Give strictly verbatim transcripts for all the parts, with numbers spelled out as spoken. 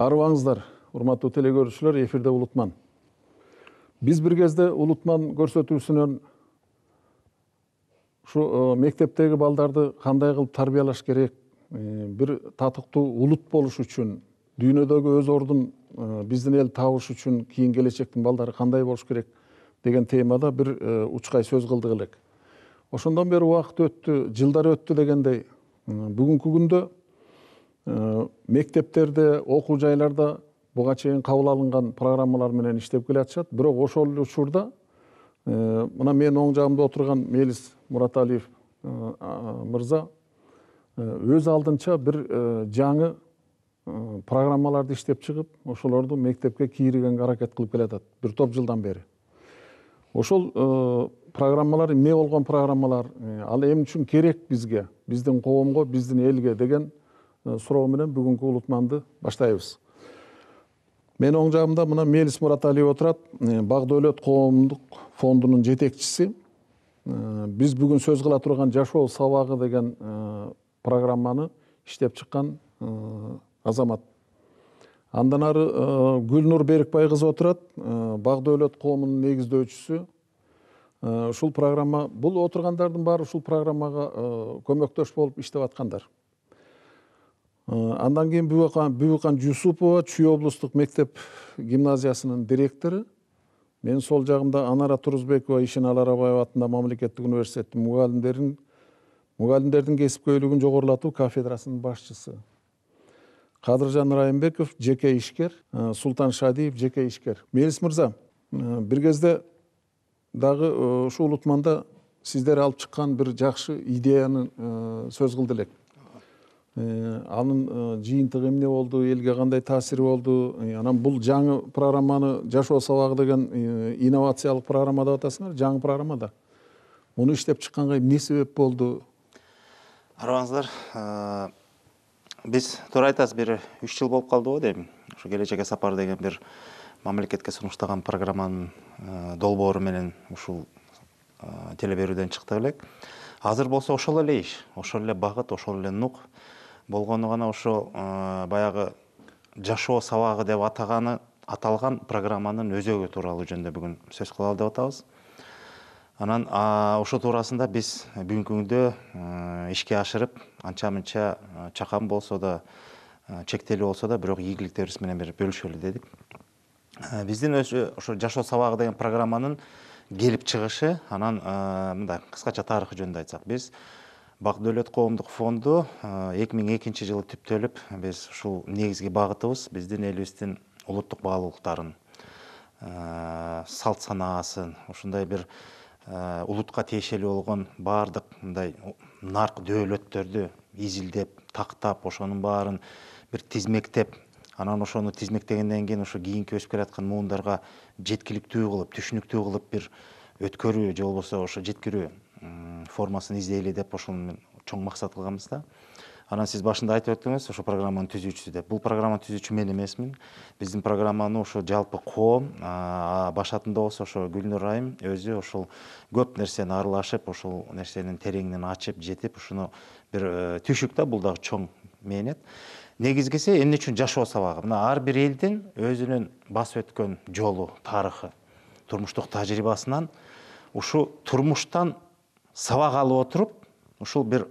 Арыбаңыздар, урматтуу телекөрүүчүлөр, эфирде Улутман. Биз бир кезде Улутман көрсөтүүсүнөн ушу мектептеги балдарды кандай кылып тарбиялаш керек, бир татыктуу улут болуш үчүн, дүйнөдөгү өз ордун биздин эл табыш үчүн кийин келечектин балдары кандай болуш керек деген темада бир учкай сөз кылдык элек. Ошондон бери убакыт өттү, жылдар өттү дегендей, бүгүнкү күндө мектептерде, окуу жайларда буга чейин кабыл алынган программалар менен иштеп келатышат. Бирок ошол эле учурда мына менин оң жагымда отурган Мелис Мураталиев мырза өз алдынча бир жаңы программаларды иштеп чыгып, ошолорду мектепке кийригенге аракет кылып келатат бир топ жылдан бери. Ошол программалар эмне болгон программалар, ал эмне үчүн керек бизге, биздин коомго, биздин элге деген суроо менен бүгүнкү Улутманды баштайбыз. Менин оң жагымда мына Мелис Мураталиев отурат, Бак-Дөөлөт коомдук фондунун жетекчиси. Биз бүгүн сөз кыла турган жашоо сабагы деген программаны иштеп чыккан азамат. Андан ары Гүлнур Берикбай кызы отурат, Бак-Дөөлөт коомунун негиздөөчүсү. Ушул программа, бул отургандардын баары ушул программага көмөктөш болуп иштеп аткандар. Андан кийин Бүбүкан Жусупова, Чүй облустук мектеп гимназиясынын директору. Менин сол жагымда Анара Турузбекова, Ишеналы Арабаева атындагы мамлекеттик университеттин мугалимдерин мугалимдердин кесипкөйлүгүн жогорулатуу кафедрасынын башчысы. Кадыржан Райымбеков, жеке ишкер, Султан Шадиев, жеке ишкер. Мелис мырза, бир кезде дагы ушу Улутманда сиздер алып чыккан бир жакшы идеяны сөз кылды элек. Анын жыйынтыгы эмне болду, элге кандай таасири болду? Анан бул жаңы программаны жашоо сабагы деген инновациялык программа деп атасыңар, жаңы программада. Муну иштеп чыкканга эмне себеп болду? Арыбаңыздар, биз туура айтасыз, бир үч жыл болуп калды го дейм. Ушу келечекке сапар деген бир мамлекетке сунуштаган программанын долбоору менен ушул телеберүүдөн чыкты элек. Азыр болсо ошол эле иш, ошол эле багыт, ошол эле нук болгону гана ошо баягы жашоо сабагы деп атаганы аталган программанын өзөгү тууралуу жөнүндө бүгүн сөз кылалы деп атабыз. Анан ошо туурасында биз бүгүнкү күндө ишке ашырып, анча-мынча чакан болсо да, чектелүү болсо да, бирок ийгиликтерибиз менен бир бөлүшөлү дедик. Биздин ошо жашоо сабагы деген программанын келип чыгышы, анан мындай кыскача тарыхы жөнүндө айтсак, биз Бак-Дөөлөт коомдук фонду эки миң экинчи жылы түптөлүп, биз ушул негизги багытыбыз биздин элибиздин улуттук баалуулуктарын, салт санаасын, ушундай бир улутка тиешелүү болгон баардык мындай нарк дөөлөттөрдү изилдеп, тактап, ошонун баарын бир тизмектеп, анан ошону тизмектегенден кийин ошо кийинки өсүп келаткан муундарга жеткиликтүү кылып, түшүнүктүү кылып бир өткөрүү же болбосо ошо жеткирүү формасын издейли деп ошону чоң максат кылганбыз да. Анан сиз башында айтып өттүңүз, ошо программанын түзүүчүсү деп. Бул программаны түзүүчү мен эмесмин. Биздин программаны ошо жалпы коом башатында болсо ошо Гүлнур айым өзү ошол көп нерсени аралашып, ошол нерсенин тереңинен ачып, жетип, ушуну бир түшүк да, бул дагы чоң мээнет. Негизгиси эмне үчүн жашоо сабагы? Мына ар бир элдин өзүнүн басып өткөн жолу, тарыхы, турмуштук тажрыйбасынан ушу турмуштан сабак алып отуруп, ушул бир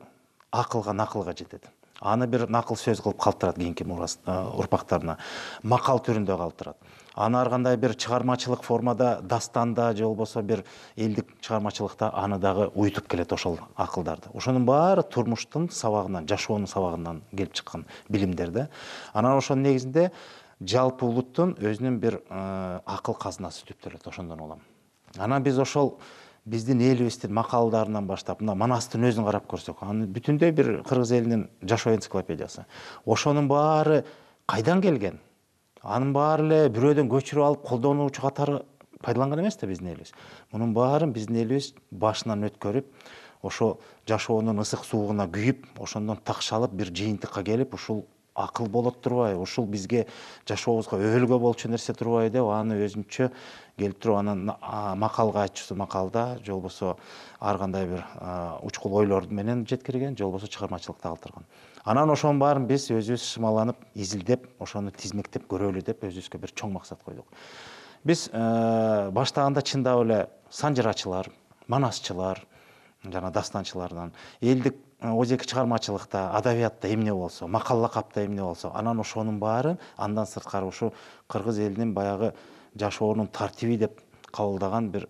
акылга, накылга жетет. Аны бир накыл сөз кылып калтырат кийинки урпактарына, макал түрүндө калтырат. Аны ар кандай бир чыгармачылык формада, дастанда же болбосо бир элдик чыгармачылыкта аны дагы уютуп келет ошол акылдарды. Ошонун баары турмуштун сабагынан, жашоонун сабагынан келип чыккан билимдер да. Анан ошонун негизинде жалпы улуттун өзүнүн бир акыл казынасы түптөлөт ошондон улам. Анан биз ошол биздин элибиздин макалдарынан баштап, мына Манастын өзүн карап көрсөк, анын бүтүндөй бир кыргыз элинин жашоо энциклопедиясы. Ошонун баары кайдан келген? Анын баары эле бирөөдөн көчүрүп алып колдонуучу катары пайдаланган эмес да биздин элибиз. Мунун баарын биздин элибиз башынан өткөрүп, ошо жашоонун ысык суугуна күйүп, ошондон такшалып бир жыйынтыкка келип, ушул акыл болот турбайбы, ушул бизге жашообузга өбөлгө болчу нерсе турбайбы деп аны өзүнчө келип туруп анан макалга айтчусу макалда же болбосо ар кандай бир учкул ойлор менен жеткирген, же болбосо чыгармачылыкта калтырган. Анан ошонун баарын биз өзүбүз шымаланып, изилдеп, ошону тизмектеп көрөлү деп өзүбүзгө бир чоң максат койдук. Биз баштаганда чындап эле санжырачылар, манасчылар, жана дастанчылардан элдик өзеки чыгармачылыкта, адабиятта эмне болсо, макал лакапта эмне болсо, анан ошонун баарын андан сырткары ушу кыргыз элинин баягы жашоонун тартиби деп кабылдаган бир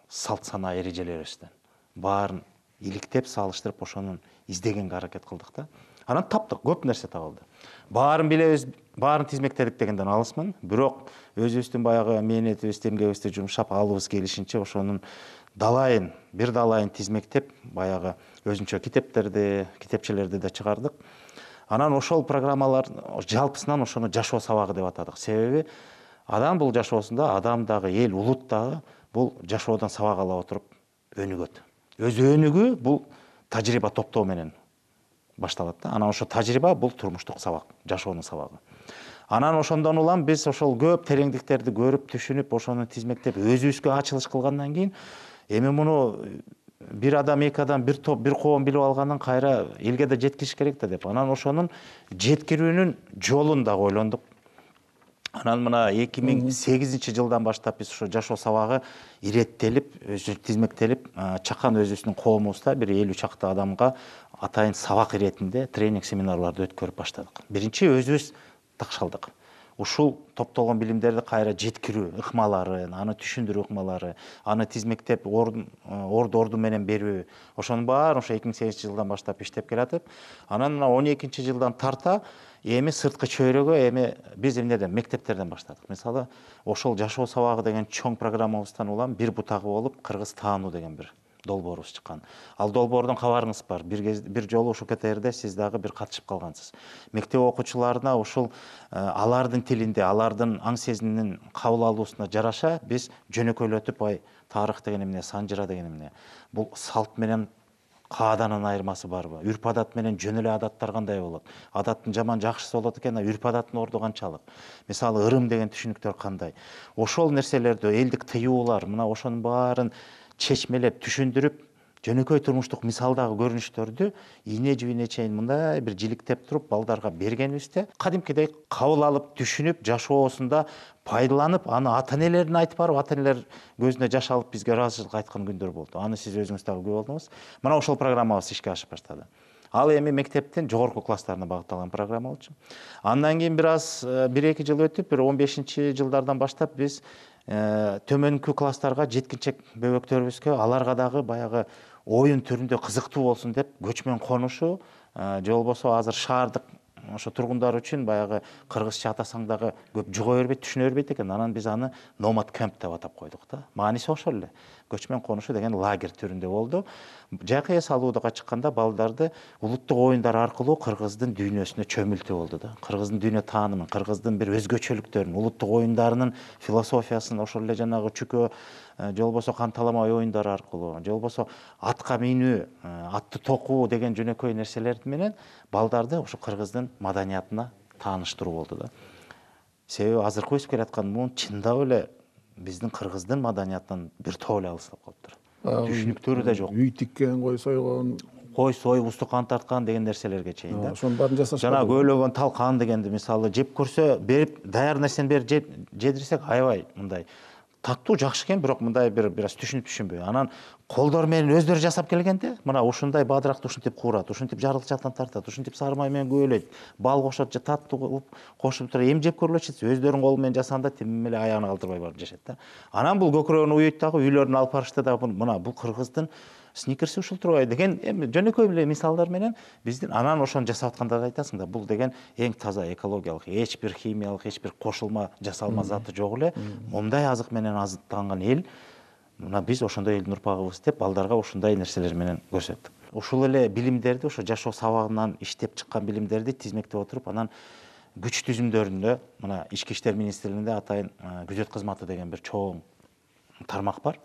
салт санаа эрежелерибизден баарын иликтеп, салыштырып ошонун издегенге аракет кылдык да. Анан таптык, көп нерсе табылды. Баарын билебиз, баарын тизмектедик дегенден алысмын, бирок өзүбүздүн баягы мээнетибизди, эмгегибизди жумшап алыбыз келишинче ошонун далайын, бир далайын тизмектеп, баягы өзүнчө китептерди, китепчелерди да чыгардык. Анан ошол программалар жалпысынан ошону жашоо сабагы деп атадык. Себеби адам бул жашоосунда, адам дагы, эл, улут дагы бул жашоодон сабак ала отуруп өнүгөт. Өз өнүгүү бул тажрыйба топтоо менен башталат да. Анан ошо тажрыйба бул турмуштук сабак, жашоонун сабагы. Анан ошондон улам биз ошол көп тереңдиктерди көрүп, түшүнүп, ошону тизмектеп, өзүбүзгө ачылыш кылгандан кийин эми муну бир адам, эки адам, бир топ, бир коом билип алгандан кайра элге да жеткириш керек да деп. Анан ошонун жеткирүүнүн жолун дагы ойлондук. Анан мына эки миң сегизинчи жылдан баштап биз ошо жашоо сабагы иреттелип, өзү тизмектелип, чакан өзүбүздүн коомубузда бир элүү чакты адамга атайын сабак иретинде тренинг семинарларды өткөрүп баштадык. Биринчи өзүбүз такшалдык. Ушул топтолгон билимдерди кайра жеткирүү ыкмаларын, аны түшүндүрүү ыкмалары, аны тизмектеп, орду орду менен берүү, ошонун баары ошо эки миң сегизинчи жылдан баштап иштеп келатып, анан мына он экинчи жылдан тарта эми сырткы чөйрөгө эми биз эмнеден, мектептерден баштадык. Мисалы, ошол жашоо сабагы деген чоң программабыздан улам бир бутагы болуп кыргыз таануу деген бир долбоорубуз чыккан. Ал долбоордон кабарыңыз бар. Бир кез бир жолу ушул ка тэ эрде сиз дагы бир катышып калгансыз. Мектеп окуучуларына ушул алардын тилинде, алардын аң сезиминин кабыл алуусуна жараша биз жөнөкөйлөтүп, ай тарых деген эмне, санжыра деген эмне, бул салт менен кааданын айырмасы барбы? Үрп адат менен жөн эле адаттар кандай болот? Адаттын жаман жакшысы болот экен, а үрп адаттын орду канчалык? Мисалы, ырым деген түшүнүктөр кандай? Ошол нерселерди, элдик тыюулар, мына ошонун баарын чечмелеп, түшүндүрүп, жөнөкөй турмуштук мисалдагы көрүнүштөрдү ийне жибине чейин мындай бир жиликтеп туруп балдарга бергенибизде кадимкидей кабыл алып, түшүнүп, жашоосунда пайдаланып, аны ата-энелерине айтып барып, ата-энелер көзүнө жаш алып бизге ыраазычылык айткан күндөр болду. Аны сиз өзүңүз дагы күбө болдуңуз. Мына ошол программабыз ишке ашып баштады. Ал эми мектептин жогорку класстарына багытталган программа болчу. Андан кийин бир аз бир эки жыл өтүп, бир он бешинчи жылдардан баштап биз төмөнкү класстарга жеткинчек бөбөктөрүбүзгө аларга дагы баягы оюн түрүндө кызыктуу болсун деп көчмөн конушу, же болбосо азыр шаардык ошо тургундар үчүн баягы кыргызча атасаң дагы көп жуга бербейт, түшүнө бербейт экен. Анан биз аны номад кемп деп атап койдук да. Мааниси ошол эле. Көчмөн конушу деген лагерь түрүндө болду. Жайкы эс алууга чыкканда балдарды улуттук оюндар аркылуу кыргыздын дүйнөсүнө чөмүлтүү болду да. Кыргыздын дүйнө таанымын, кыргыздын бир өзгөчөлүктөрүн, улуттук оюндарынын философиясын ошол эле жанагы чүкө, же болбосо канталамай оюндары аркылуу, же болбосо атка минүү, атты токуу деген жөнөкөй нерселер менен балдарды ошо кыргыздын маданиятына тааныштыруу болду да. Себеби азыркы өсүп келаткан муун чындап эле биздин кыргыздын маданиятынан бир топ эле алыстап калыптыр. Түшүнүктөрү да жок. Үй тиккен, кой сойгон, кой союп, устукан тарткан деген нерселерге чейин да. Ошонун баарын жасашат. Жана көйлөгөн талкан дегенди мисалы жеп көрсө, берип даяр нерсени берип жедирсек, аябай мындай таттуу жакшы экен, бирок мындай бир бир аз түшүнүп түшүнбөй. Анан колдор менен өздөрү жасап келгенде, мына ушундай бадыракты ушинтип куурат, ушинтип жарылчаактан тартат, ушинтип сары май менен көбөлөйт, бал кошот, же таттуу кылып кошуп туруп эми жеп көрүлөчү, өздөрүнүн колу менен жасаганда тим эле аягына калтырбай барып жешет да. Анан бул көкүрөгүн уйуйт дагы, үйлөрүнө алып барышты да, мына бул кыргыздын сникерси ушул турбайбы деген эми жөнөкөй эле мисалдар менен биздин анан ошону жасап аткандарды айтасың да, бул деген эң таза экологиялык, эч бир химиялык, эч бир кошулма жасалма заты жок эле, момундай азык менен азыктанган эл, мына биз ошондой элдин урпагыбыз деп балдарга ушундай нерселер менен көрсөттүк. Ушул эле билимдерди, ошо жашоо сабагынан иштеп чыккан билимдерди тизмектеп отуруп, анан күч түзүмдөрүндө мына Ички иштер министрлигинде атайын күзөт кызматы деген бир чоң тармак бар.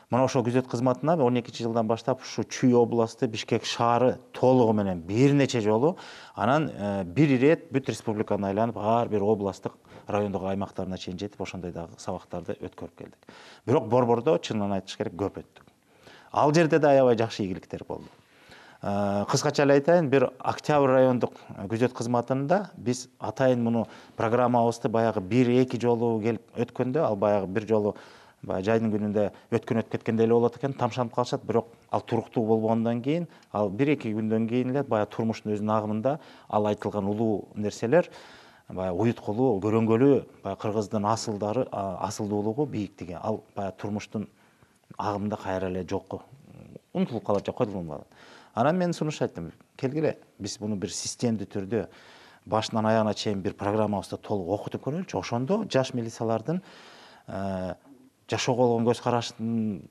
Мына ошол күзөт кызматына он экинчи жылдан баштап ушу Чүй областы, Бишкек шаары толугу менен бир нече жолу, анан бир ирет бүт республиканы айланып, ар бир областтык, райондук аймактарына чейин жетип, ошондой дагы сабактарды өткөрүп келдик. Бирок Борбордо чынын айтыш керек көп өттүк. Ал жерде да аябай жакшы ийгиликтер болду. Кыскача эле айтайын, бир Октябрь райондук күзөт кызматында биз атайын муну программабызды баягы бир эки жолу келип өткөндө, ал баягы бир жолу баягы жайдын күнүндө өткөн өтүп кеткенде эле болот экен, тамшанып калышат, бирок ал туруктуу болгондон кийин, ал бир эки күндөн кийин эле баягы турмуштун өзүнүн агымында ал айтылган улуу нерселер баягы уюткулуу, көрөнгөлүү, баягы кыргыздын асылдары, асылдуулугу, бийиктиги ал баягы турмуштун агымында кайра эле жокко унутулуп калат же койдулуп калат. Анан мен сунуш айттым, келгиле, биз буну бир системдүү түрдө башынан аягына чейин бир программабызды толук окутуп көрөлүчү. Ошондо жаш милициялардын жашоого болгон көз караштын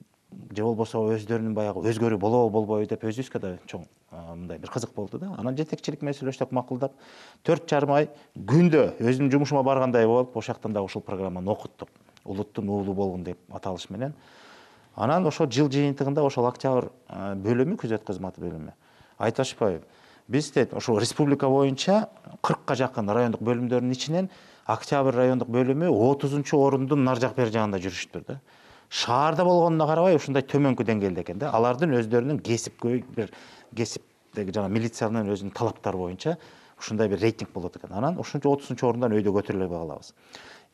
же болбосо өздөрүнүн баягы өзгөрүү болобу болбойбу деп өзүбүзгө да чоң мындай бир кызык болду да. Анан жетекчилик менен сүйлөштүк, макулдап төрт жарым ай күндө өзүмдүн жумушума баргандай болуп, ошол жактан да ушул программаны окуттук. Улуттун уулу болгун деп аталыш менен. Анан ошол жыл жыйынтыгында ошол Октябрь бөлүмү, күзөт кызматы бөлүмү айтып атышпайбы, биз дейт ошол республика боюнча кыркка жакын райондук бөлүмдөрдүн ичинен Октябрь райондук бөлүмү отузунчу орундун нар жак бери жагында жүрүштүр да. Шаарда болгонуна карабай ушундай төмөнкү деңгээлде экен да. Алардын өздөрүнүн кесипкөй бир кесиптеги жана милициянын өзүнүн талаптары боюнча ушундай бир рейтинг болот экен. Анан ушунча отузунчу орундан өйдө көтөрүлө калабыз.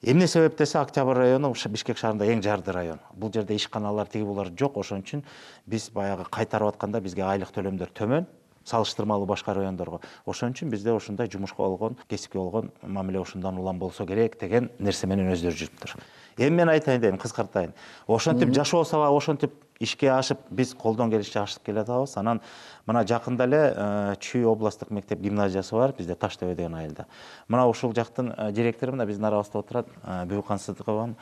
Эмне себеп десе, Октябрь району Бишкек шаарында эң жарды район. Бул жерде ишканалар тиги булар жок, ошон үчүн биз баягы кайтарып атканда бизге айлык төлөмдөр төмөн, салыштырмалуу башка райондорго. Ошон үчүн бизде ушундай жумушка болгон, кесипке болгон мамиле ушундан улам болсо керек деген нерсе менен өздөрү жүрүптүр. Эми мен айтайын дедим, кыскартайын. Ошентип жашоо сабагы ошентип ишке ашып, биз колдон келишинче ашып келе жатабыз. Анан мына жакында эле Чүй областтык мектеп гимназиясы бар, бизде Таштөбө деген айылда. Мына ушул жактын директору мына биздин арабызда отурат, Бүкан Сыдыкова.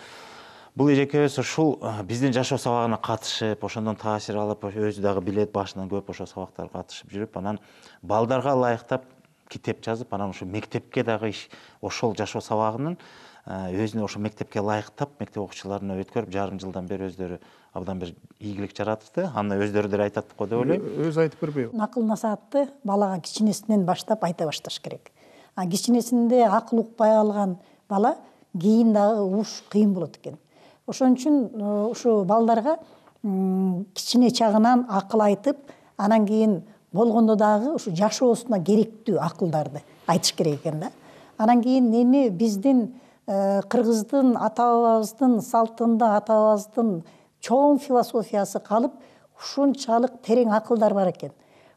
Бул эжекебиз ушул биздин жашоо сабагына катышып, ошондон таасир алып, өзү дагы билет, башынан көп ошол сабактарга катышып жүрүп, анан балдарга ылайыктап китеп жазып, анан ошо мектепке дагы ошол жашоо сабагынын өзүнө ошо мектепке ылайыктап, мектеп окуучуларына өткөрүп, жарым жылдан бери өздөрү абдан бир ийгилик жаратышты. Аны өздөрү деле айтат го деп ойлойм. Өзү айтып бербейби? Акыл насаатты балага кичинесинен баштап айта башташ керек. А кичинесинде акыл укпай калган бала кийин дагы угуш кыйын болот экен. Ошон үчүн ушу балдарга кичине чагынан акыл айтып, анан кийин болгондо дагы ушу жашоосуна керектүү акылдарды айтыш керек экен да. Анан кийин эми биздин кыргыздын ата-бабабыздын салтында, ата-бабабыздын чоң философиясы калып, ушунчалык терең акылдар бар экен.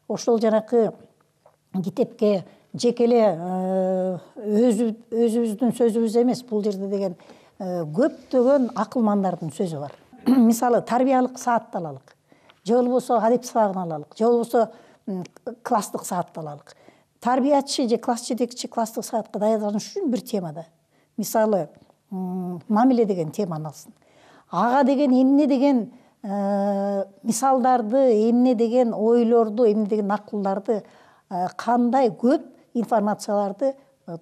Ошол жанакы китепке жекеле өзүбүздүн сөзүбүз эмес, бул жерде деген көптөгөн акылмандардын сөзү бар. Мисалы, тарбиялык саатты алалык, же болбосо адеп сабагын алалык, же болбосо класстык саатты алалык. Тарбиячы же класс жетекчи класстык саатка даярданыш үчүн бир темада. Мисалы, мамиле деген теманы алсын. Ага деген эмне деген мисалдарды, эмне деген ойлорду, эмне деген акылдарды, кандай көп информацияларды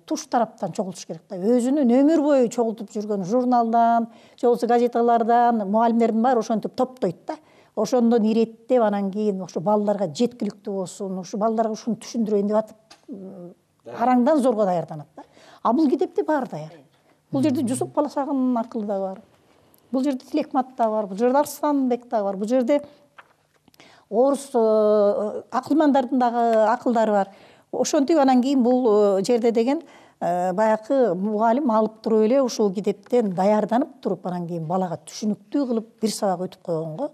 туш тараптан чогултуш керек да. Өзүнүн өмүр бою чогултуп жүргөн журналдан, же болбосо газеталардан, мугалимдердин баары ошентип топтойт да. Ошондон иреттеп, анан кийин ошо балдарга жеткиликтүү болсун, ошо балдарга ушуну түшүндүрөйүн деп атып, араңдан зорго даярданат да. А бул китепте баары даяр. Бул жерде Жусуп Баласагындын акылы да бар. Бул жерде Тилекмат да бар, бул жерде Арсланбек да бар, бул жерде орус акылмандардын дагы акылдары бар. Ошентип анан кийин бул жерде деген баягы мугалим алып туруп эле ушул китептен даярданып туруп, анан кийин балага түшүнүктүү кылып бир сабак өтүп койгонго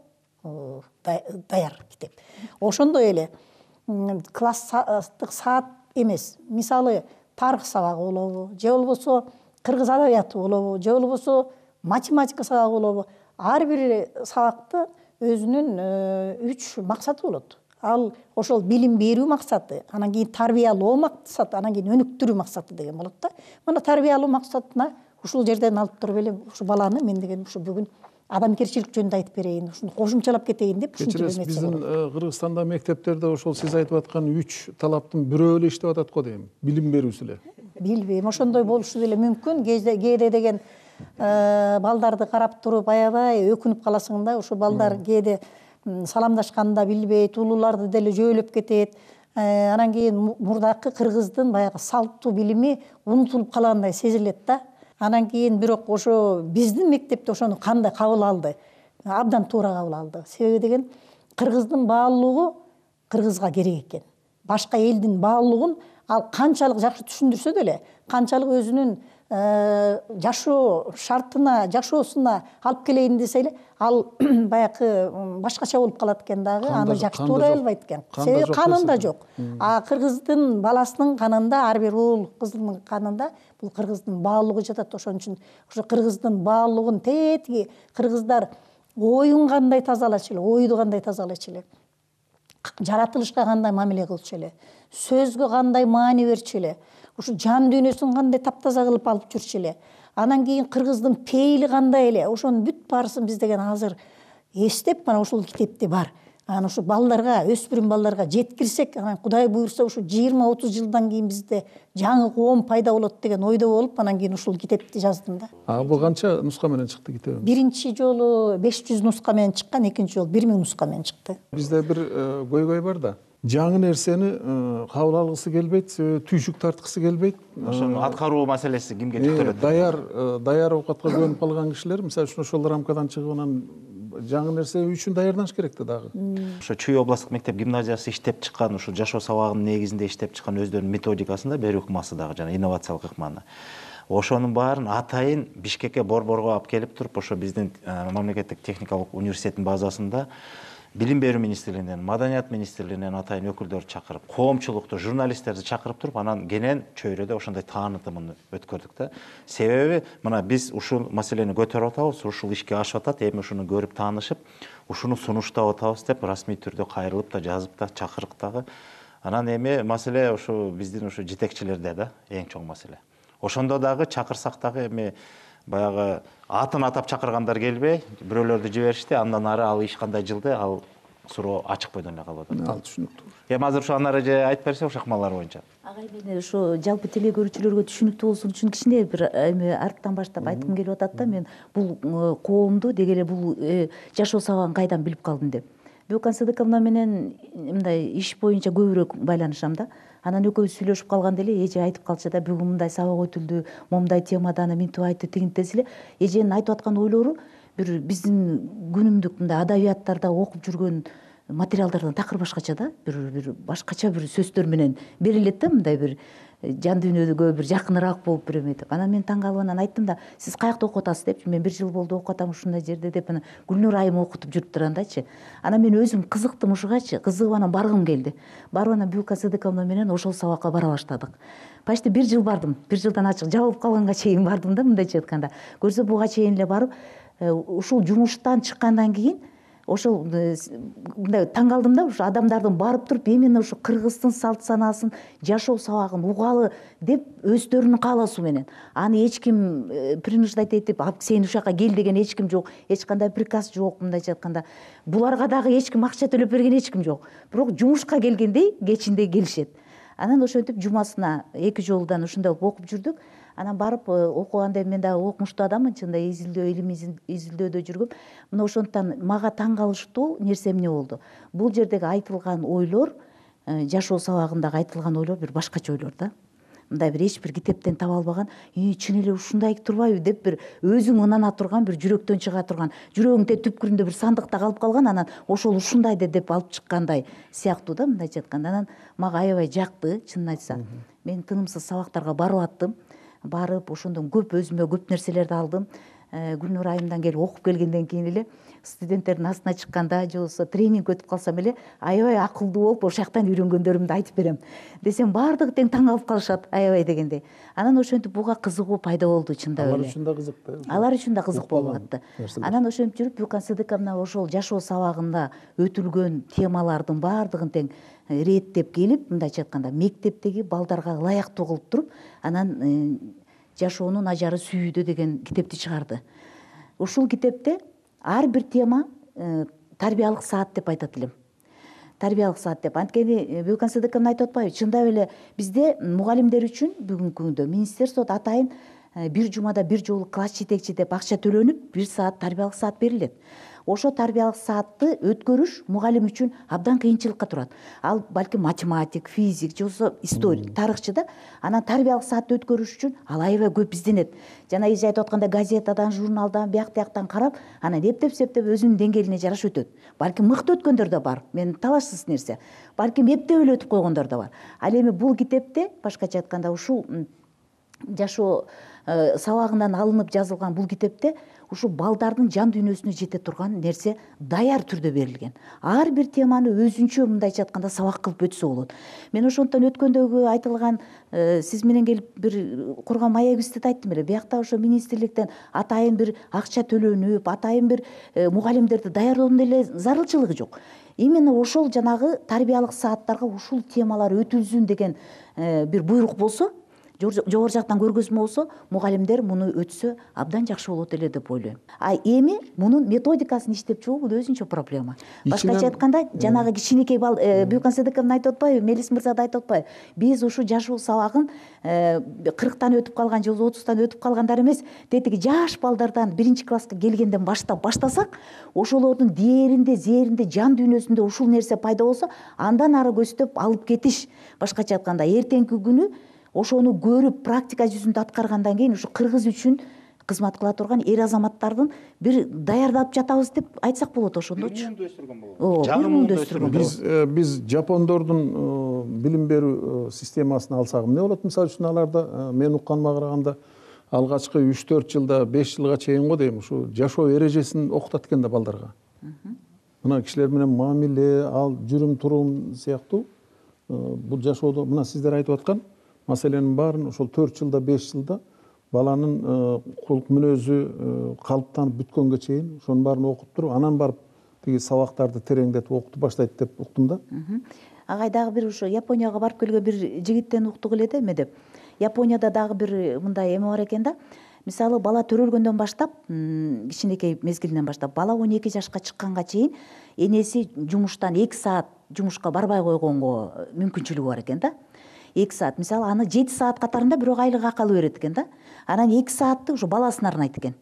даяр китеп. Ошондой эле класстык саат эмес, мисалы тарых сабагы болобу, же болбосо кыргыз адабияты болобу, же болбосо математика сабагы болобу, ар бир сабакта өзүнүн үч максаты болот. Ал ошол билим берүү максаты, анан кийин тарбиялоо максаты, анан кийин өнүктүрүү максаты деген болот да. Мына тарбиялоо максатына ушул жерден алып туруп эле ушу баланы мен деген ушу бүгүн адамгерчилик жөнүндө айтып берейин, ушуну кошумчалап кетейин деп ушинтип эмесе. Биздин Кыргызстанда мектептерде ошол сиз айтып аткан үч талаптын бирөө эле иштеп атат го дейм, билим берүүсү эле. Билбейм, ошондой болушу деле мүмкүн. Кээде деген балдарды карап туруп аябай өкүнүп каласың да. Ошо балдар кээде саламдашканды да билбейт, улууларды деле жөөлөп кетет. Анан кийин мурдакы кыргыздын баягы салттуу билими унутулуп калгандай сезилет да. Анан кийин бирок ошо биздин мектепте ошону кандай кабыл алды? Абдан туура кабыл алды. Себеби деген кыргыздын баалуулугу кыргызга керек экен. Башка элдин баалуулугун ал канчалык жакшы түшүндүрсө деле, канчалык өзүнүн жашоо шартына, жашоосуна алып келейин десе эле, ал баягы башкача болуп калат экен дагы, аны жакшы туурай албайт экен. Себеби канында жок. А кыргыздын баласынын канында, ар бир уул кыздын канында бул кыргыздын баалуулугу жатат. Ошон үчүн ошо кыргыздын баалуулугун тетиги кыргыздар оюн кандай тазалачу эле, ойду кандай тазалачу эле, жаратылышка кандай мамиле кылчу эле, сөзгө кандай маани берчү эле, ушу жан дүйнөсүн кандай таптаза кылып алып жүрчү эле, анан кийин кыргыздын пейили кандай эле, ошонун бүт баарысын биз деген азыр эстеп, мана ушул китепте бар. Анан ушу балдарга, өспүрүм балдарга жеткирсек, анан Кудай буйрса ушу жыйырма отуз жылдан кийин бизде жаңы коом пайда болот деген ойдо болуп, анан кийин ушул китепти жаздым да. А бул канча нуска менен чыкты китеп? Биринчи жолу беш жүз нуска менен чыккан, экинчи жолу бир миң нуска менен чыкты. Бизде бир көйгөй бар да. Жаңы нерсени кабыл алгысы келбейт, түйшүк тарткысы келбейт. Ошону аткаруу маселеси кимге жүктөлөт? Даяр, даяр оокатка көнүп калган кишилер, мисалы үчүн ошол рамкадан чыгып анан жаңы нерсе үчүн даярданыш керек да дагы. Ошо Чүй областтык мектеп гимназиясы иштеп чыккан, ушул жашоо сабагынын негизинде иштеп чыккан өздөрүнүн методикасында берүү ыкмасы дагы жана инновациялык ыкманы. Ошонун баарын атайын Бишкекке борборго алып келип туруп, ошо биздин мамлекеттик техникалык университеттин базасында Билим берүү министрлигинен, Маданият министрлигинен атайын өкүлдөрдү чакырып, коомчулукту, журналисттерди чакырып туруп, анан кенен чөйрөдө ошондой таанытымын өткөрдүк да. Себеби мына биз ушул маселени көтөрүп атабыз, ушул ишке ашып атат, эми ушуну көрүп таанышып, ушуну сунуштап атабыз деп расмий түрдө кайрылып да, жазып да, чакырык дагы. Анан эми маселе ушу биздин ушу жетекчилерде да, эң чоң маселе. Ошондо дагы чакырсак дагы эми баягы атын атап чакыргандар келбей, бирөөлөрдү жиберишти, андан ары ал иш кандай жылды, ал суроо ачык бойдон эле калып атат. Ал түшүнүктүү. Эми азыр ушу анары же айтып берсе ушул акмалар боюнча. Агай, мен ошо жалпы теле көрүүчүлөргө түшүнүктүү болсун үчүн кичине бир эми арттан баштап айткым келип атат да, мен бул коомду деги эле бул жашоо сабагын кайдан билип калдым деп. Бөкөн Сыдыковна менен мындай иш боюнча көбүрөөк байланышам да. Анан экөөбүз сүйлөшүп калганда эле эже айтып калчу да, бүгүн мындай сабак өтүлдү, момундай темада аны минтип айтты, тигинтип десе эле, эженин айтып аткан ойлору бир биздин күнүмдүк мындай адабияттарда окуп жүргөн материалдардан такыр башкача да, бир бир башкача бир сөздөр менен берилет да, мындай бир жан дүйнөгө бир жакыныраак болуп бир эметип. Анан мен таң калып анан айттым да, сиз каякта окуп атасыз депчи, мен бир жыл болду окуп атам ушундай жерде деп, анан Гүлнур айым окутуп жүрүп тургандачы. Анан мен өзүм кызыктым ушугачы, кызыгып анан баргым келди. Барып анан Бюлка Сыдыковна менен ошол сабакка бара баштадык. Почти бир жыл бардым, бир жылдан ачык жабылып калганга чейин бардым да, мындайча айтканда. Көрсө буга чейин эле барып, ушул жумуштан чыккандан кийин ошол мындай таң калдым да, ушу адамдардын барып туруп именно ушу кыргыздын салт санаасын, жашоо сабагын угалы деп өздөрүнүн каалоосу менен. Аны эч ким принуждать этип, сен ушул жака кел деген эч ким жок, эч кандай приказ жок, мындайча айтканда. Буларга дагы эч ким акча төлөп берген эч ким жок. Бирок жумушка келгендей кечинде келишет. Анан ошентип жумасына эки жолудан ушундай окуп жүрдүк. Анан барып окуганда мен дагы окумуштуу адаммын, чынында изилдөө, илим изилдөөдө жүргөм. Мына ошондуктан мага таң калыштуу нерсе эмне болду? Бул жердеги айтылган ойлор, жашоо сабагындагы айтылган ойлор бир башкача ойлор да. Мындай бир эч бир китептен таба албаган, "Ий, чын эле ушундай турбайбы?" деп бир өзүң ынана турган, бир жүрөктөн чыга турган, жүрөгүңдө түпкүрүндө бир сандыкта калып калган, анан ошол ушундай деп алып чыккандай сыяктуу да, мындайча айтканда. Анан мага аябай жакты, чынын айтса. Мен тынымсыз сабактарга барып аттым. Барып ошондон көп өзүмө көп нерселерди алдым. Гүлнур айымдан келип окуп келгенден кийин эле студенттердин астына чыкканда же болбосо тренинг өтүп калсам эле аябай акылдуу болуп ошол жактан үйрөнгөндөрүмдү айтып берем десем, баардыгы тең таң калып калышат аябай дегендей. Анан ошентип буга кызыгуу пайда болду, чындап эле. Алар үчүн да кызык да. Алар үчүн да кызык болуп атты. Анан ошентип жүрүп Бюлка Сыдыковна ошол жашоо сабагында өтүлгөн темалардын баардыгын тең реттеп келип, мындайча айтканда, мектептеги балдарга ылайыктуу кылып туруп, анан жашоонун ажары сүйүүдө деген китепти чыгарды. Ушул китепте ар бир тема тарбиялык саат деп айтат элем. Тарбиялык саат деп. Анткени Бюлка Сыдыковна айтып атпайбы? Чындап эле бизде мугалимдер үчүн бүгүнкү күндө министерстводо атайын бир жумада бир жолу класс жетекчи деп акча төлөнүп бир саат тарбиялык саат берилет. Ошо тарбиялык саатты өткөрүш мугалим үчүн абдан кыйынчылыкка турат. Ал балким математик, физик же болбосо историк, тарыхчы да. Анан тарбиялык саатты өткөрүш үчүн ал аябай көп изденет. Жана эже айтып аткандай газетадан, журналдан, бияк тияктан карап, анан эптеп септеп өзүнүн деңгээлине жараша өтөт. Балким мыкты өткөндөр да бар. Мен талашсыз нерсе. Балким эптеп эле өтүп койгондор да бар. Ал эми бул китепте башкача айтканда ушул жашоо сабагынан алынып жазылган бул китепте ушу балдардын жан дүйнөсүнө жете турган нерсе даяр түрдө берилген. Ар бир теманы өзүнчө мындайча айтканда сабак кылып өтсө болот. Мен ошондон өткөндөгү айтылган сиз менен келип бир курган маегибизди да айттым эле. Биякта ошо министрликтен атайын бир акча төлөнүп, атайын бир мугалимдерди даярдоонун эле зарылчылыгы жок. Именно ошол жанагы тарбиялык сааттарга ушул темалар өтүлсүн деген бир буйрук болсо, жогору жактан көргөзмө болсо, мугалимдер муну өтсө абдан жакшы болот эле деп ойлойм. А эми мунун методикасын иштеп чыгуу бул өзүнчө проблема. Башкача айтканда, жанагы кичинекей бал Бүйкөн Сыдыковна айтып атпайбы, Мелис мырза да айтып атпайбы? Биз ушу жашоо сабагын кырктан өтүп калган же отуздан өтүп калгандар эмес, тетиги жаш балдардан биринчи класска келгенден баштап баштасак, ошолордун дээринде, зээринде, жан дүйнөсүндө ушул нерсе пайда болсо, андан ары көздөп алып кетиш. Башкача айтканда, эртеңки күнү ошону көрүп практика жүзүндө аткаргандан кийин ушу кыргыз үчүн кызмат кыла турган эр азаматтардын бир даярдап жатабыз деп айтсак болот ошондочу. Муунду өстүргөн болот. Ооба, Жагымды өстүргөн Биз биз жапондордун билим берүү системасын алсак эмне болот? Мисалы үчүн аларда мен укканыма караганда алгачкы үч төрт жылда, беш жылга чейин го дейм, ушу жашоо эрежесин окутат экен да балдарга. Мына кишилер менен мамиле, ал жүрүм турум сыяктуу бул жашоодо мына сиздер айтып аткан маселенин баарын ошол төрт жылда, беш жылда баланын кулк мүнөзү калыптанып бүткөнгө чейин ошонун баарын окуп туруп, анан барып тиги сабактарды тереңдетип окутуп баштайт деп уктум да. Агай дагы бир ушу Японияга барып келген бир жигиттен уктук эле да эме деп. Японияда дагы бир мындай эме бар экен да. Мисалы, бала төрөлгөндөн баштап, кичинекей мезгилинен баштап, бала он эки жашка чыкканга чейин энеси жумуштан эки саат жумушка барбай койгонго мүмкүнчүлүгү бар экен да. эки саат, мисалы, аны жети саат катарында бирок айлык акы берет экен да. Анан эки саатты ушу баласына арнайт экен.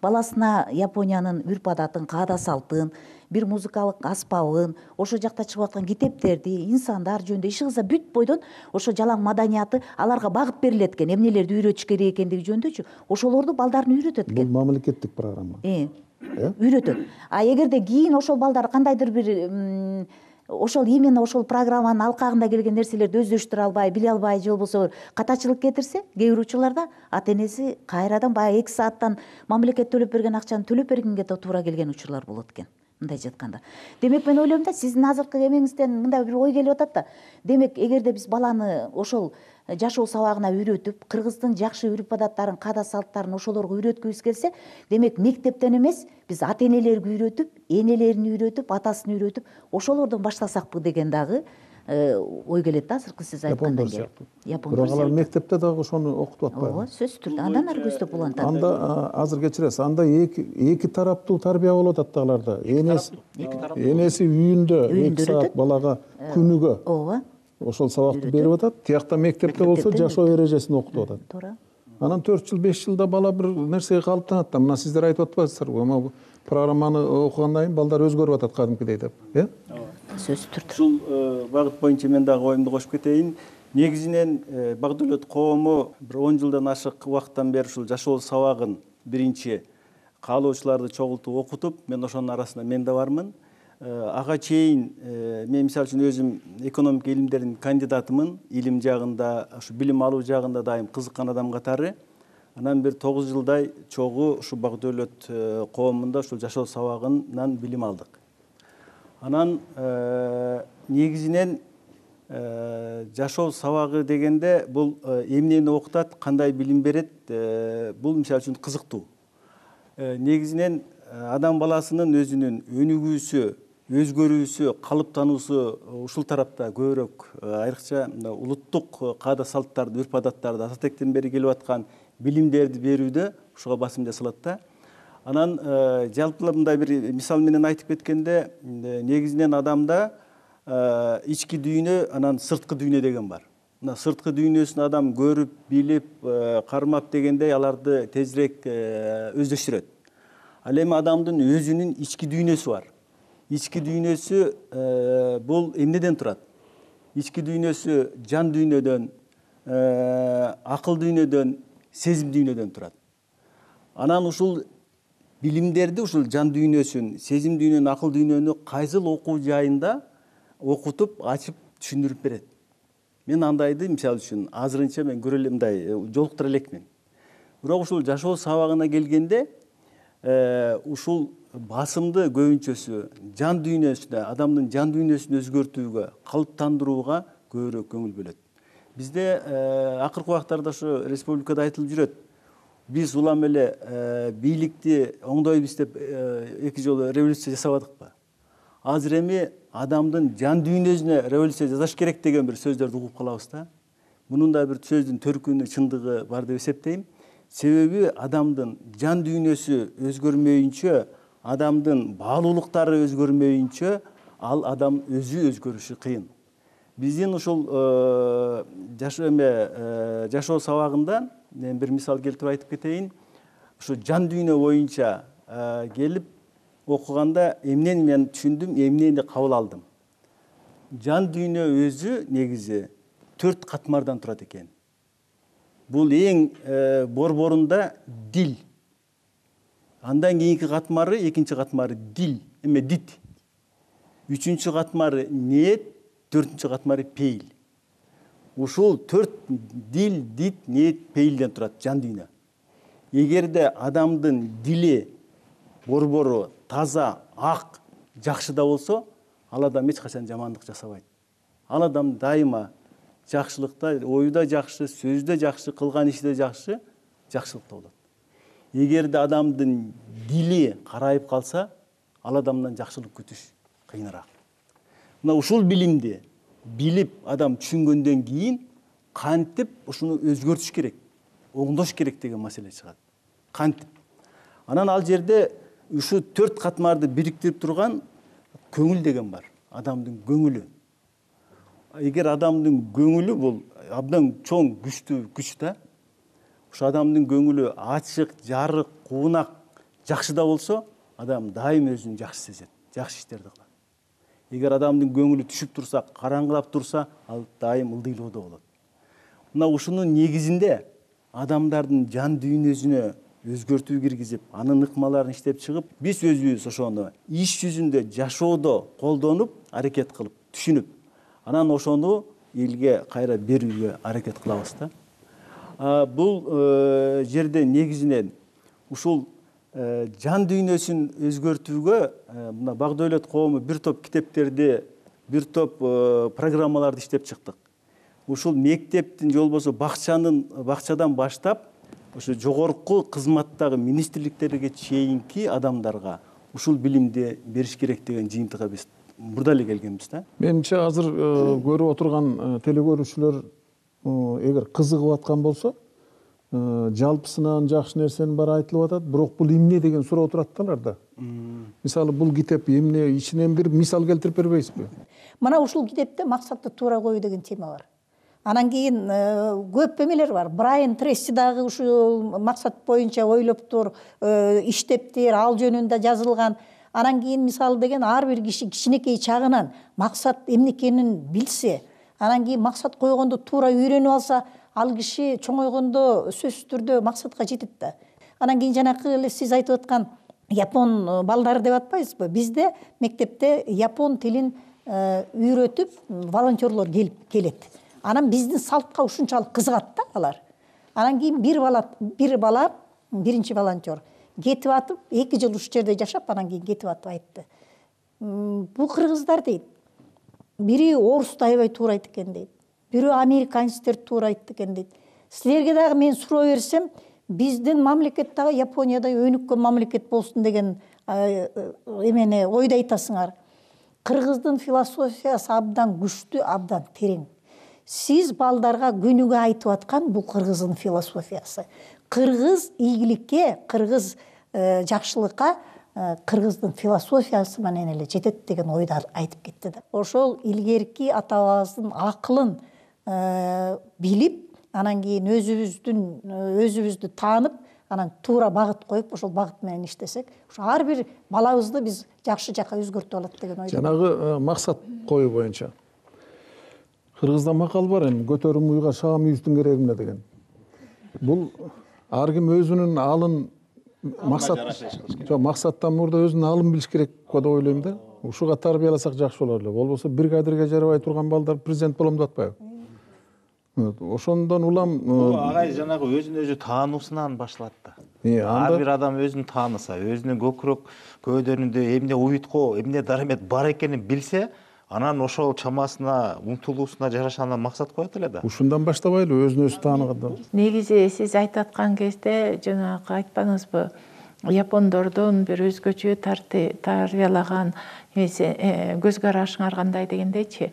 Баласына Япониянын үрп адатын, каада салтын, бир музыкалык аспабын, ошол жакта чыгып аткан китептерди, инсандар жөнүндө иши кылса бүт бойдон ошо жалаң маданияты аларга багып берилет экен. Эмнелерди үйрөтүш керек экендиги жөнүндөчү. Ошолорду балдарына үйрөтөт экен. Бул мамлекеттик программа. Э, үйрөтөт. А эгерде кийин ошол балдар кандайдыр бир ошол именно ошол программанын алкагында келген нерселерди өздөштүрө албай, биле албай же болбосо катачылык кетирсе, кээ бир учурларда ата энеси кайрадан баягы эки сааттан мамлекет төлөп берген акчаны төлөп бергенге да туура келген учурлар болот экен. Мындайча айтканда. Демек мен ойлойм да, сиздин азыркы эмеңизден мындай бир ой келип атат да. Демек, эгерде биз баланы ошол жашоо сабагына үйрөтүп, кыргыздын жакшы үрп адаттарын, каада салттарын ошолорго үйрөткүбүз келсе, демек мектептен эмес, биз ата энелерге үйрөтүп, энелерин үйрөтүп, атасын үйрөтүп, ошолордон баштасакпы деген дагы ой келет да, азыркы сиз айткандан кийин. Бирок алар мектепте дагы ошону окутуп атпайбы? Ооба, сөзсүз түрдө. Андан ары көздөп улантат. Анда азыр кечиресиз, анда эки эки тараптуу тарбия болот атты аларда. Энеси энеси үйүндө эки саат балага күнүгө. Ооба. Ошол сабакты берип атат. Тиякта мектепте болсо жашоо эрежесин окутуп атат. Туура. Анан төрт жыл, беш жылда бала бир нерсеге калыптанат да. Мына сиздер айтып атпайсыздарбы? Эми программаны окугандан кийин балдар өзгөрүп атат кадимкидей деп, э? Сөзсүз түрдө. Ушул багыт боюнча мен дагы оюмду кошуп кетейин. Негизинен Багдөлөт коому бир он жылдан ашык убакыттан бери ушул жашоо сабагын биринчи каалоочуларды чогултуп окутуп, мен ошонун арасында мен да бармын. Ага чейин мен мисалы үчүн өзүм экономика илимдеринин кандидатымын. Илим жагында, ушу билим алуу жагында дайым кызыккан адам катары. Анан бир тогуз жылдай чогуу ушу Багдөлөт коомунда ушул жашоо сабагынан билим алдык. Анан негизинен жашоо сабагы дегенде бул эмнени окутат, кандай билим берет, бул мисалы үчүн кызыктуу. Негизинен адам баласынын өзүнүн өнүгүүсү, өзгөрүүсү, калыптануусу ушул тарапта көбүрөөк, айрыкча улуттук каада салттарды, үрп адаттарды ата тектен бери келип аткан билимдерди берүүдө ушуга басым жасалат да. Анан жалпылап мындай бир мисал менен айтып кеткенде, негизинен адамда ички дүйнө, анан сырткы дүйнө деген бар. мына сырткы дүйнөсүн адам көрүп билип кармап дегендей аларды тезирээк өздөштүрөт. Ал эми адамдын өзүнүн ички дүйнөсү бар. Ички дүйнөсү бул эмнеден турат? Ички дүйнөсү жан дүйнөдөн, акыл дүйнөдөн, сезим дүйнөдөн турат. Анан ушул билимдерди, ушул жан дүйнөсүн, сезим дүйнөнү, акыл дүйнөнү кайсыл окуу жайында окутуп, ачып, түшүндүрүп берет. Мен андайды, мисалы үчүн, азырынча мен көрө элем, мындай жолуктура элекмин. Бирок ушул жашоо сабагына келгенде, ушул басымды көбүнчөсү жан дүйнөсүнө, адамдын жан дүйнөсүн өзгөртүүгө, калыптандырууга көбүрөөк көңүл бөлөт. Бизде акыркы убактарда ошо республикада айтылып жүрөт. Биз улам эле бийликти оңдойбуз деп эки жолу революция жасабадыкпы? Азыр эми адамдын жан дүйнөсүнө революция жасаш керек деген бир сөздөрдү угуп калабыз да. Мунун да бир сөздүн төркүнү, чындыгы бар деп эсептейм. Себеби адамдын жан дүйнөсү өзгөрмөйүнчө, адамдын баалуулуктары өзгөрмөйүнчө, ал адам өзү өзгөрүшү кыйын. Биздин ушул жашоо эме жашоо сабагында мен бир мисал келтирип айтып кетейин. Ушу жан дүйнө боюнча келип окуганда эмнени мен түшүндүм, эмнени кабыл алдым. Жан дүйнө өзү негизи төрт катмардан турат экен. Бул эң борборунда дил. Андан кийинки катмары, экинчи катмары дил, эме дит. Үчүнчү катмары ниет, төртүнчү катмары пейил. Ушул төрт дил, дит, ниет, пейилден турат жан дүйнө. Эгерде адамдын дили, борбору таза, ак, жакшы да болсо, ал адам эч качан жамандык жасабайт. Ал адам дайыма жакшылыкта, ою да жакшы, сөзү да жакшы, кылган иши да жакшы, жакшылыкта болот. Эгерде адамдын дили карайып калса, ал адамдан жакшылык күтүш кыйыныраак. Мына ушул билимди билип адам түшүнгөндөн кийин кантип ушуну өзгөртүш керек, оңдош керек деген маселе чыгат. Кантип? Анан ал жерде ушу төрт катмарды бириктирип турган көңүл деген бар. Адамдын көңүлү. Эгер адамдын көңүлү бул абдан чоң, күчтүү күч да. Ушу адамдын көңүлү ачык, жарык, куунак, жакшы да болсо, адам дайым өзүн жакшы сезет, жакшы иштерди кылат. Эгер адамдын көңүлү түшүп турса, караңгылап турса, ал дайым ылдыйлоодо болот. Мына ушунун негизинде адамдардын жан дүйнөсүнө өзгөртүү киргизип, анын ыкмаларын иштеп чыгып, биз өзүбүз ошону иш жүзүндө жашоодо колдонуп, аракет кылып, түшүнүп, анан ошону элге кайра берүүгө аракет кылабыз да. Бул жерде негизинен ушул жан дүйнөсүн өзгөртүүгө мына Багдölet коому бир топ китептерди, бир топ программаларды иштеп чыктык. Ушул мектептин же болбосо бакчанын бакчадан баштап ошо жогорку кызматтагы министрликтерге чейинки адамдарга ушул билимди бериш керек деген жыйынтыгга биз мурда эле келгенбиз да. Менимче азыр көрүп отурган телекөрүүчүлөр эгер кызыгып аткан болсо, жалпысынан жакшы нерсенин баары айтылып атат, бирок бул эмне деген суроо турат да аларда. Мисалы бул китеп эмне, ичинен бир мисал келтирип бербейсизби? Мына ушул китепте максатты туура коюу деген тема бар. Анан кийин көп эмелер бар. Брайан Трейси дагы ушул максат боюнча ойлоптур, иштептир, ал жөнүндө жазылган. Анан кийин мисалы деген ар бир киши кичинекей чагынан максат эмне экенин билсе, анан кийин максат койгондо туура үйрөнүп алса, ал киши чоңойгондо сөзсүз түрдө максатка жетет да. Анан кийин жанакы эле сиз айтып аткан япон балдары деп атпайсызбы? Бизде мектепте япон тилин үйрөтүп волонтерлор келип келет. Анан биздин салтка ушунчалык кызыгат да алар. Анан кийин бир бала, бир бала, биринчи волонтер кетип атып, эки жыл ушул жерде жашап, анан кийин кетип атып айтты. Бул кыргыздар дейт. Бири орусту аябай туурайт экен дейт. Бирөө американецтерди туурайт экен дейт. Силерге дагы мен суроо берсем, биздин мамлекет дагы Япониядай өнүккөн мамлекет болсун деген эмени ойду айтасыңар. Кыргыздын философиясы абдан күчтүү, абдан терең. Сиз балдарга күнүгө айтып аткан бул кыргыздын философиясы. Кыргыз ийгиликке, кыргыз жакшылыкка кыргыздын философиясы менен эле жетет деген ойду айтып кетти да. Ошол илгерки ата бабабыздын акылын билип, анан кийин өзүбүздүн өзүбүздү таанып, анан туура багыт коюп, ошол багыт менен иштесек, ошо ар бир балабызды биз жакшы жакка өзгөртүп алат деген ойдомун. Жанагы максат коюу боюнча кыргызда макал бар, эми көтөрүм уйга шаам үйүстүн кереги эмне деген. Бул ар ким өзүнүн алын максат жок максаттан мурда өзүнүн алын билиш керек го деп ойлойм да. Ушуга тарбияласак жакшы болор эле. Болбосо бригадирге жарабай турган балдар президент болом деп атпайбы? Ошондон улам агай жанагы өзүн өзү таануусунан башталат да. Ар бир адам өзүн тааныса, өзүнүн көкүрөк көөдөрүндө эмне уютко, эмне дарамет бар экенин билсе, анан ошол чамасына, умтулуусуна жараша анан максат коет эле да. Ушундан баштабайлы өзүн өзү тааныганда. Негизи сиз айтып аткан кезде жанагы айтпаңызбы, япондордун бир өзгөчө тарбиялаган көз карашыңар кандай дегендейчи.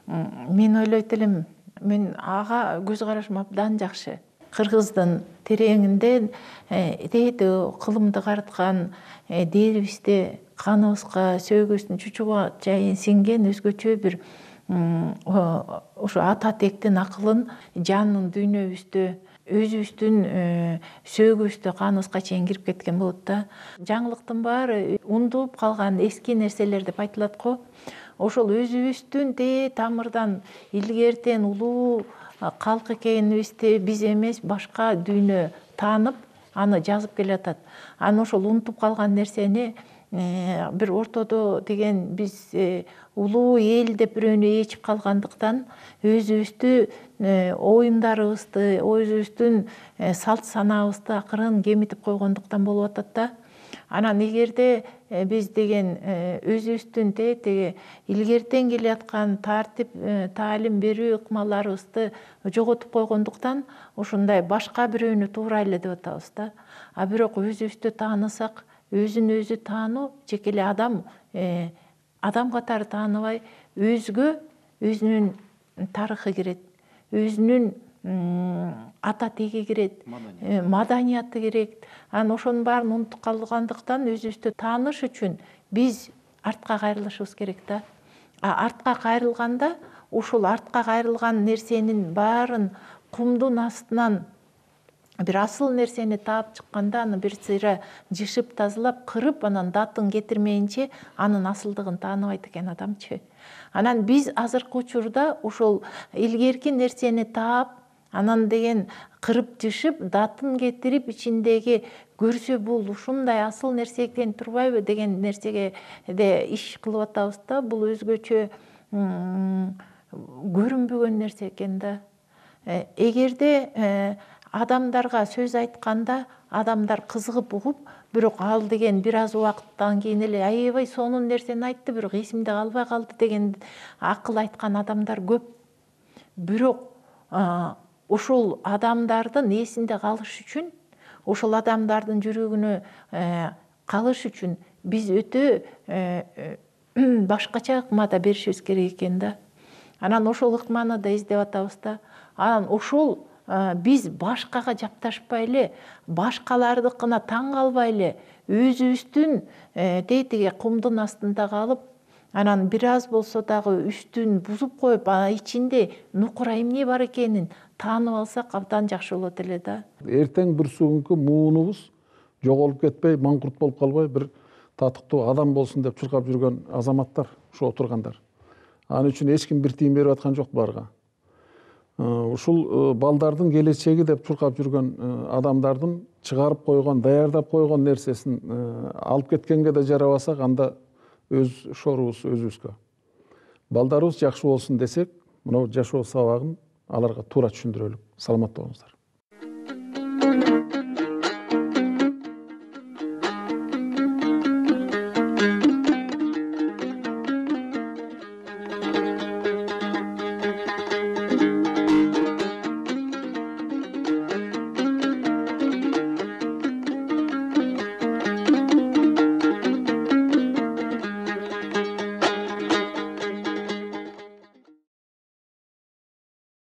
Мен ойлойт элем, мен ага көз карашым абдан жакшы. Кыргыздын тереңинде дейди кылымды карыткан дээрибизде каныбызга, сөөгүбүздүн чучуга чейин сиңген өзгөчө бир ошо ата тектин акылын жанын дүйнөбүздө, өзүбүздүн сөөгүбүздө каныбызга чейин кирип кеткен болот да. Жаңылыктын баары унутуп калган эски нерселер деп айтылат го. Ошол өзүбүздүн де тамырдан илгертен улуу калк экенибизди биз эмес башка дүйнө таанып, аны жазып келатат. Анан ошол унутуп калган нерсени бир ортодо деген биз улуу эл деп бирөөнү ээчип калгандыктан өзүбүздү оюндарыбызды, өзүбүздүн салт санаабызды акырын кемитип койгондуктан болуп атат да. Анан эгерде биз деген өзүбүздүн теги илгертен келе аткан тартип, таалим берүү ыкмаларыбызды жоготуп койгондуктан ушундай башка бирөөнү туурайлы деп атабыз да. А бирок өзүбүздү таанысак, өзүн өзү таануу жеке эле адам адам катары тааныбай, өзгө өзүнүн тарыхы кирет, өзүнүн ата теги кирет, маданияты керек. Анан ошонун баарын унутуп калгандыктан өзүбүздү тааныш үчүн биз артка кайрылышыбыз керек да. А артка кайрылганда ушул артка кайрылган нерсенин баарын кумдун астынан бир асыл нерсени таап чыкканда, аны бир сыйра жышып, тазалап, кырып, анан датын кетирмейинче анын асылдыгын тааныбайт экен адамчы. Анан биз азыркы учурда ошол илгерки нерсени таап, анан деген кырып жышып, датын кетирип, ичиндеги көрсө бул ушундай асыл нерсе экен турбайбы деген нерсеге де иш кылып атабыз да. Бул өзгөчө көрүнбөгөн нерсе экен да. Эгерде адамдарга сөз айтканда адамдар кызыгып угуп, бирок ал деген бир аз убакыттан кийин эле аябай сонун нерсени айтты, бирок эсимде калбай калды деген акыл айткан адамдар көп. Бирок ошол адамдардын эсинде калыш үчүн, ошол адамдардын жүрөгүнө калыш үчүн биз өтө башкача ыкмада беришибиз керек экен да. Анан ошол ыкманы да издеп атабыз да. Анан ошол биз башкага жапташпай эле, башкалардыкына таң калбай эле, өзүбүздүн тетиги кумдун астында калып, анан бир аз болсо дагы үстүн бузуп коюп, ичинде нукура эмне бар экенин таанып алсак абдан жакшы болот эле да. Эртең бир бүгүнкү муунубуз жоголуп кетпей, маңкурт болуп калбай, бир татыктуу адам болсун деп чуркап жүргөн азаматтар, ушу отургандар. Ал үчүн эч ким бир тиын берип аткан жок буларга. Ушул балдардын келечеги деп чуркап жүргөн адамдардын чыгарып койгон, даярдап койгон нерсесин алып кеткенге да жарабасак, анда өз шорубуз өзүбүзгө. Балдарыбыз жакшы болсун десек, мына жашоо сабагын аларга туура түшүндүрөлүк. Саламатта болуңуздар.